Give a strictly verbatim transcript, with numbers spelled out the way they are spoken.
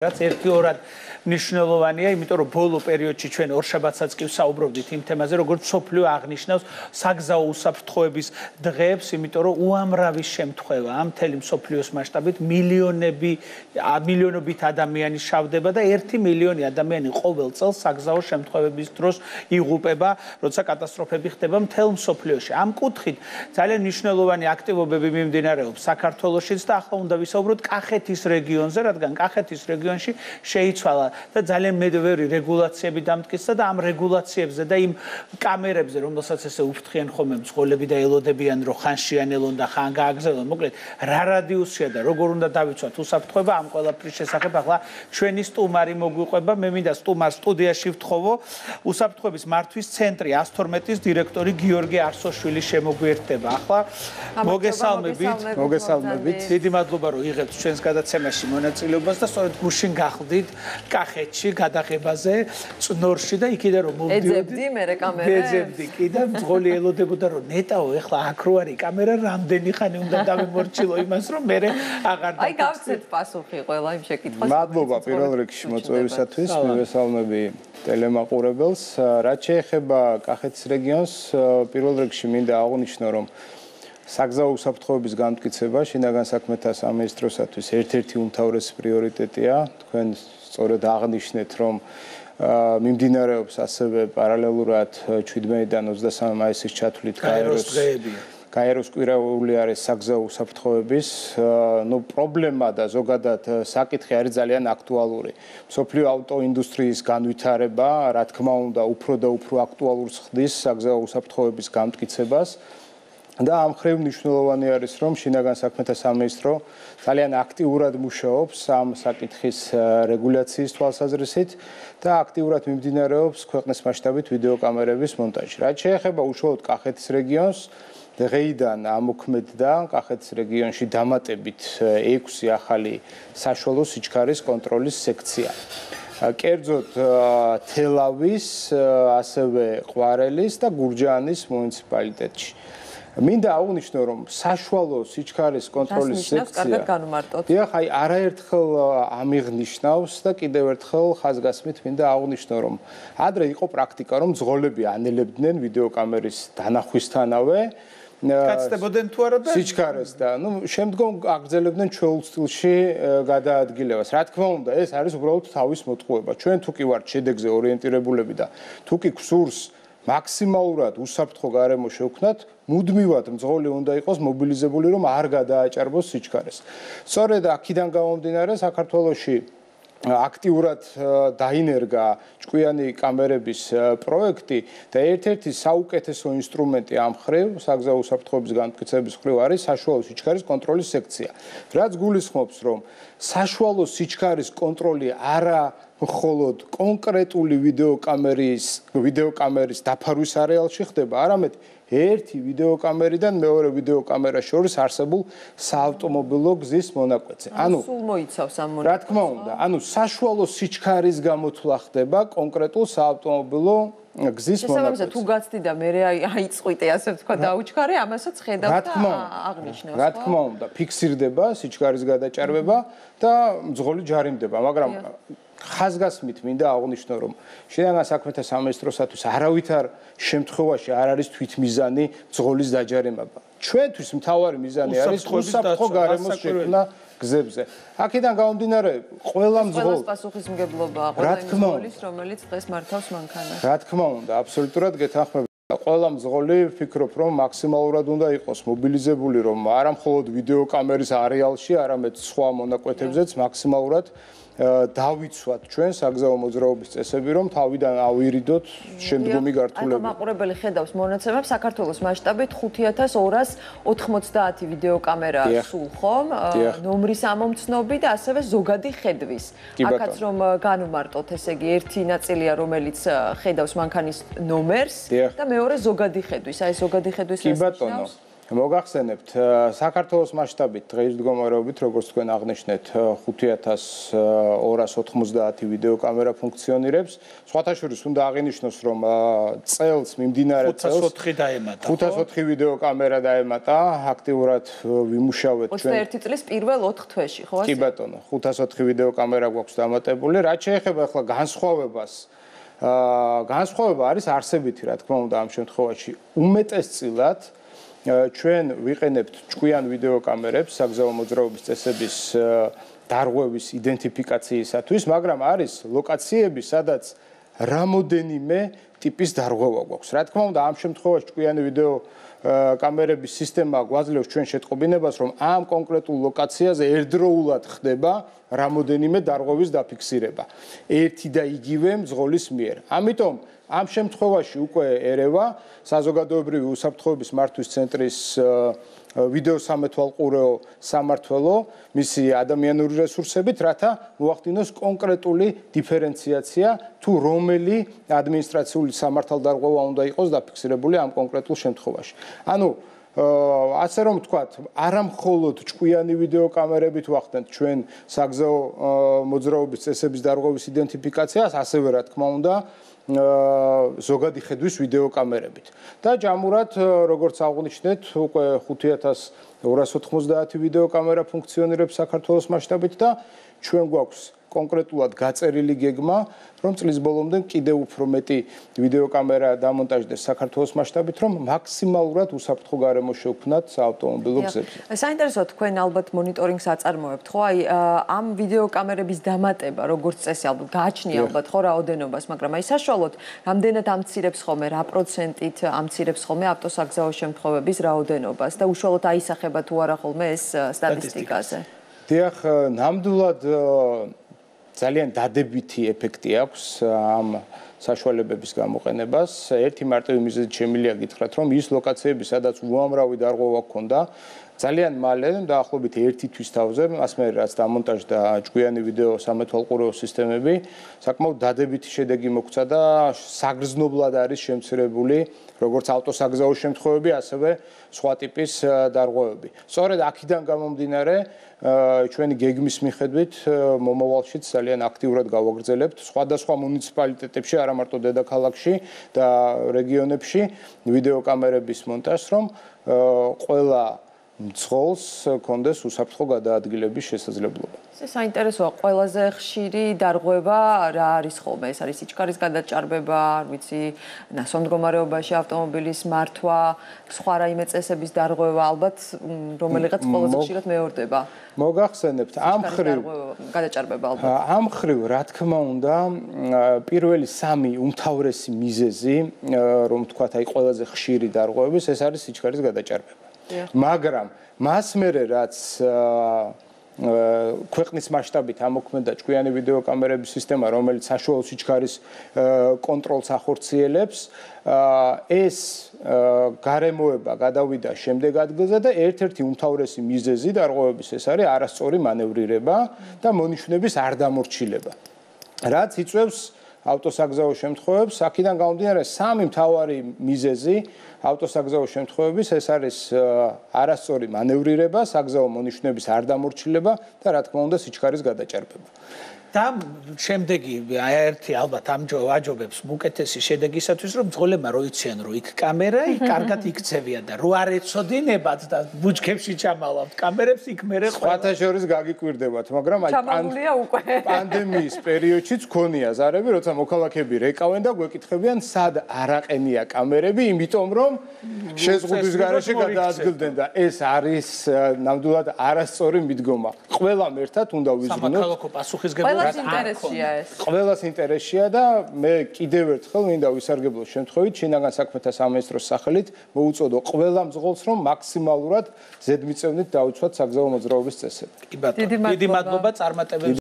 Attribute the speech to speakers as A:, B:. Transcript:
A: რაც ერთი ორად მნიშვნელოვანია, იმიტომ რომ ბოლო პერიოდში ჩვენ ორშაბათსაც კი ვსაუბრობდით იმ თემაზე, როგორც სოფლიო აღნიშნავს საგზაო უსაფრთხოების დღეებს, იმიტომ რომ უამრავი შემთხვევაა მთელი მსოფლიოს მასშტაბით მილიონები, მილიონობით ადამიანი შავდება და ერთი მილიონი ადამიანი ყოველ წელს საგზაო შემთხვევების დროს იღუპება, როცა კატასტროფები ხდება მთელ მსოფლიოში. ამ კუთხით ძალიან მნიშვნელოვანი აქტივობები მიმდინარეობს საქართველოშიც და ახლა უნდა ვისაუბროთ კახეთის რეგიონზე, რადგან კახეთის რეგიონში შეიცვალა და ძალიან მედვერი რეგულაციები დამტკიცა და ამ რეგულაციებზე და იმ კამერებზე, რომელსაც ესე უფრთხიან ხოლმე მძღოლები და ელოდებიან, რომ ხან შეანელონ და ხან გააგზავნონ, მოკლედ რა რადიუსია და როგორ უნდა დავიცვათ უსაფრთხოება, ამ ყველაფრის შესახებ ახლა ჩვენი სტუმარი მოგვიყვება. მე მინდა სტუმარს სტუდიაში ვთხოვო, უსაფრთხოების მართვის ცენტრი ას თორმეტის დირექტორი გიორგი არსოშვილი შემოგვიერთდება. ახლა მოგესალმებით,
B: მოგესალმებით.
A: დიდი მადლობა რომ იღებთ ჩვენს გადაცემაში მონაწილეობას და სწორედ გუშინ გახდით კახეთში გადაღებაზე წნორში და იქიდან რომ მოვდიოდი
C: ეძებდი მე კამერას
A: ეძებდი კი და მძღოლი ელოდებოდა რომ ნეტაო ეხლა აქ რო არის კამერა რამდენი ხანი უნდა დავემორჩილო იმას რომ მე აღარ
C: აი გავცეთ პასუხი ყველა იმ შეკითხვას
B: მადლობა პირველ რიგში მოწვევისათვის მივესალმები ტელემაყურებელს რაც შეეხება კახეთის რეგიონს პირველ რიგში მინდა აღვნიშნო რომ საგზაო უსაფრთხოების განმტკიცება შინაგან საქმეთა სამინისტროსათვის ერთ-ერთი უმთავრესი პრიორიტეტია. თქვენ სწორედ აღნიშნეთ, რომ მიმდინარეობს ასევე პარალელურად შვიდმეიდან ოცდასამი მაისის ჩათვლით გაეროს გაეროს კვირაული არის საგზაო უსაფრთხოების ნუ პრობლემა და ზოგადად საკითხი არის ძალიან აქტუალური. მსოფლიო ავტოინდუსტრიის განვითარება, რა თქმა უნდა, უფრო და უფრო აქტუალურს ხდის საგზაო უსაფრთხოების განმტკიცებას. და ამ ხრივ მნიშვნელოვანი არის რომ შინაგან საქმეთა სამინისტრო ძალიან აქტიურად მუშაობს ამ საკითხის რეგულაციის თვალსაზრისით და აქტიურად მიმდინარეობს ქვეყნის მასშტაბით ვიდეოკამერების მონტაჟი. რაც შეეხება უშუალოდ კახეთის რეგიონს, დღეიდან ამოქმედდა კახეთის რეგიონში დამატებით ექვსი ახალი საშუალო სიჩქარის კონტროლის სექცია. კერძოდ თელავის, ასევე ყვარელის და გურჯაანის მუნიციპალიტეტში. მინდა აღვნიშნო რომ საშუალო სიჩქარის კონტროლის სექცია დიახ აი არაერთხელ ამიღნიშნავს და კიდევ ერთხელ ხაზგასმით მინდა აღვნიშნო რომ ადრე იყო პრაქტიკა რომ მძღოლები ანელებდნენ ვიდეოკამერის დანახვისთანავე
A: კაცდებოდნენ თუ არა და
B: სიჩქარეს და ნუ შემდგომ აგრძელებდნენ ჩვეულ სტილში გადაადგილებას. რა თქმა უნდა ეს არის უბრალოდ თავის მოტყუება. ჩვენ თუ კი ვართ შედეგზე ორიენტირებულები და თუ კი გსურს მაქსიმალურად უსაფრთხო გარემო შევქმნათ, მუდმივად მძღოლი უნდა იყოს მობილიზებული, რომ არ გადააჭარბოს სიჩქარეს. სწორედ აქედან გამომდინარე საქართველოში აქტიურად დაინერგა ჭკვიანი კამერების პროექტი და ერთ-ერთი საუკეთესო ინსტრუმენტი ამ ხრივ, საგზაო უსაფრთხოების განმტკიცების ხრივ არის საშუალო სიჩქარის კონტროლის სექცია. რაც გულისხმობს, რომ საშუალო სიჩქარის კონტროლი არა მხოლოდ კონკრეტული ვიდეოკამერის ვიდეოკამერის დაფარვის არეალში ხდება, არამედ ერთი ვიდეოკამერიდან მეორე ვიდეოკამერას შორის არსებულ საავტომობილო გზის მონაკვეთზე.
C: ანუ სულ მოიცავს ამ
B: მონაკვეთს. რა თქმა უნდა, ანუ საშუალო სიჩქარის გამოთვლა ხდება კონკრეტულ საავტომობილო გზის მონაკვეთზე.
C: თუ გაცდი და მე აიწყვიტე, ასე ვთქვა, დაუჩქარე, ამასაც ხედავ და აღნიშნავს.
B: რა თქმა უნდა, ფიქსირდება სიჩქარის გადაჭარბება და მძღოლი ჯარიმდება, მაგრამ ხაზგასმით მინდა აღვნიშნო რომ შინაგან საქმეთა სამინისტროსათვის არავითარ შემთხვევაში არ არის თვითმიზანი მძღოლის დაჯარიმება. ჩვენთვის მთავარი მიზანი არის უსაფრთხო გარემოს შექმნა გზებზე. აქედან გამომდინარე, ყველა მძღოლს
C: პასუხისმგებლობაა ყველა მძღოლის, რომელიც დღეს მართავს მანქანას.
B: რა თქმა უნდა, აბსოლუტურად გეთანხმებით. ყველა მძღოლი ვფიქრობ რომ მაქსიმალურად უნდა იყოს მობილიზებული, რომ არა მხოლოდ ვიდეოკამერის არეალში, არამედ სხვა მონაკვეთებზეც მაქსიმალურად დავიცვათ ჩვენ საგზაო მოძრაობის წესები, რომ თავიდან ავირიდოთ შემდგომი გართულება.
C: აი მაყურებელი ხედავს მონაცემებს საქართველოს მასშტაბით ხუთი ათას ორას ოთხმოცდაათი ვიდეოკამერა სულ ხომ, ნომრის ამომცნობი და ასევე ზოგადი ხედვის. აქაც რომ განვმარტოთ, ესე იგი ერთი ნაწილია რომელიც ხედავს მანქანის ნომერს და მეორე ზოგადი ხედვის. აი ზოგადი ხედვის
B: კი ბატონო. მოგახსენებთ, საქართველოს მასშტაბით დღეის მდგომარეობით, როგორც თქვენ აღნიშნეთ, ხუთი ათას ორას ოთხმოცდაათი ვიდეო კამერა ფუნქციონირებს. სხვათა შორის უნდა აღინიშნოს, რომ წელს მიმდინარე წელს
A: ხუთას ოთხი დაემატა.
B: ხუთას ოთხი ვიდეო კამერა დაემატა, აქტიურად ვიმუშავეთ ჩვენ.
C: ოცდაერთი წლის პირველ ოთხ თვეში, ხო ასე?
B: კი ბატონო, ხუთას ოთხი ვიდეო კამერა გვაქვს დამატებული. რაც შეეხება ახლა განსხვავებას, აა განსხვავება არის არსებითი, რა თქმა უნდა, ამ შემთხვევაში უმეტესწილად ჩვენ ვიყენებთ ჭკვიან ვიდეო კამერებს საგზაო მოძრაობის წესების დარღვევის იდენტიფიკაციისათვის, მაგრამ არის ლოკაციები, სადაც რამოდენიმე ტიპის დარღვევა გვაქვს. რა თქმა უნდა, ამ შემთხვევაში ჭკვიანი ვიდეო კამერების სისტემა გვაძლევს ჩვენ შეტყობინებას, რომ ამ კონკრეტულ ლოკაციაზე ერთდროულად ხდება რამოდენიმე დარღვევის დაფიქსირება ერთი და იგივე მძღოლის მიერ. ამიტომ ამ შემთხვევაში უკვე ერევა საზოგადოებრივი უსაფრთხოების მართვის ცენტრის ვიდეო სამეთვალყურეო სამმართველო მისი ადამიანური რესურსებით, რათა მოახდინოს კონკრეტული დიფერენციაცია თუ რომელი ადმინისტრაციული სამართალდარღვევა უნდა იყოს დაფიქსირებული ამ კონკრეტულ შემთხვევაში. ანუ ასე რომ ვთქვათ, არა მხოლოდ ჭკვიანი ვიდეო კამერებით ვახდენთ ჩვენ საგზაო მოძრაობის წესების დარღვევის იდენტიფიკაციას, ასევე რა თქმა უნდა ზოგადი ხედვის ვიდეო კამერებით. და ჯამურად, როგორც აღნიშნეთ, უკვე ხუთი ათას ორას ოთხმოცდაათი ვიდეო კამერა ფუნქციონირებს საქართველოს მასშტაბით და ჩვენ გვაქვს კონკრეტულად გაწერილი გეგმა, რომ წლის ბოლომდე კიდევ უფრო მეტი ვიდეო კამერა დამონტაჟდეს საქართველოს მასშტაბით, რომ მაქსიმალურად უსაფრთხო გარემო შევქმნათ საავტომობილო გზებზე.
C: საინტერესოა, თქვენ ალბათ მონიტორინგს აწარმოებთ, ხო? აი ამ ვიდეო კამერების დამატება, როგორც წესი, ალბათ გააჩნია ალბათ ხო რაოდენობას, მაგრამ აი საშუალოდ რამდენად ამცირებს ხოლმე, რა პროცენტით ამცირებს ხოლმე ავტოსაგზაო შემთხვევების რაოდენობას და უშუალოდ აისახება თუ არა ხოლმე ეს სტატისტიკაზე?
B: დიახ, ნამდვილად ძალიან დადებითი ეფექტი აქვს ამ საშუალებების გამოყენებას. ერთი მარტივი მიზეზით შემიძლია გითხრათ, რომ ის ლოკაციები, სადაც უამრავი დარღვევა ჰქონდა, ძალიან მალე, დაახლოებით ერთი თვის თავზე, მას მერე რაც დამონტაჟდა ჭკვიანი ვიდეო სამეთვალყურეო სისტემები, საკმაოდ დადებითი შედეგი მოგვცა და საგრძნობლად არის შემცირებული როგორც ავტოსაგზაო შემთხვევები, ასევე სხვა ტიპის დარღვევები. სწორედ აქედან გამომდინარე, ჩვენი გეგმის მიხედვით მომავალშიც ძალიან აქტიურად გავაგრძელებთ სხვადასხვა მუნიციპალიტეტებში, არა მარტო დედაქალაქში და რეგიონებში ვიდეო კამერების მონტაჟს, რომ ყველა მძღოლს კონდეს უსაფრთხო გადაადგილების შესაძლებლობა.
C: ეს საინტერესოა, ყველაზე ხშირი დარღვევა რა არის ხოლმე? ეს არის სიჩქარის გადაჭარბება, არ ვიცი, ნასვამ მდგომარეობაში ავტომობილის მართვა, სხვა რაიმე წესების დარღვევა, ალბათ რომელიღაც ყველაზე ხშირად მეორდება.
B: მოგახსენებთ, ამ ხრივ
C: გადაჭარბება ალბათ.
B: ამ ხრივ, რა თქმა უნდა, პირველი სამი უმთავრესი მიზეზი, რომ ვთქვათ, აი ყველაზე ხშირი დარღვევების, ეს არის სიჩქარის გადაჭარბება. მაგრამ მას მერე რაც ქვეყნის მასშტაბით ამოქმედა ჭკვიანი ვიდეო კამერების სისტემა, რომელიც საშუალო სიჩქარის კონტროლს ახორციელებს, ეს გარემოება გადავიდა შემდეგ ადგილზე და ერთ-ერთი უმთავრესი მიზეზი დარღვევების ეს არის არასწორი მანევრირება და მონიშნების არ დამორჩილება. რაც იწვევს ავტოსაგზაო შემთხვევებს, აქედან გამომდინარე სამი მთავარი მიზეზი ავტოსაგზაო შემთხვევების ეს არის არასწორი მანევრირება, საგზაო მონიშნების არ დამორჩილება და რა თქმა უნდა სიჩქარის გადაჭარბება.
A: და შემდეგი ერთი ალბათ ამჯობებს უკეთესი შედეგისათვის, რომ მძღოლებმა რო იციან, რომ იქ კამერა, იქ კარგად იქცევიან და რო არ ეცოდინებათ და ბუჩქებში ჩამალავთ კამერებს, იქ მერე
B: სხვათა შორის გაგიკვირდებათ, მაგრამ აი პანდემიის პერიოდშიც ქონია ზარები, როცა მოქალაქეები რეკავენ და გვეკითხებიან, სად არაყენია კამერები, იმიტომ რომ შეზღუდვის გარეშე გადაადგილდნენ და ეს არის ნამდვილად არასწორი მიდგომა. ყველამ ერთად უნდა ვიზრუნოთ.
A: სამოქალაქო პასუხისგებლობა
C: ყველას ინტერესია ეს.
B: ყველას ინტერესია და მე კიდევ ერთხელ მინდა ვისარგებლო შემთხვევით შინაგან საქმეთა სამინისტროს სახელით მოუწოდო ყველა მძღოლს, რომ მაქსიმალურად ზედმიწევნით დაუცვათ საგზაო მოძრაობის წესები.
A: კი ბატონო, დიდი მადლობა წარმატებებს.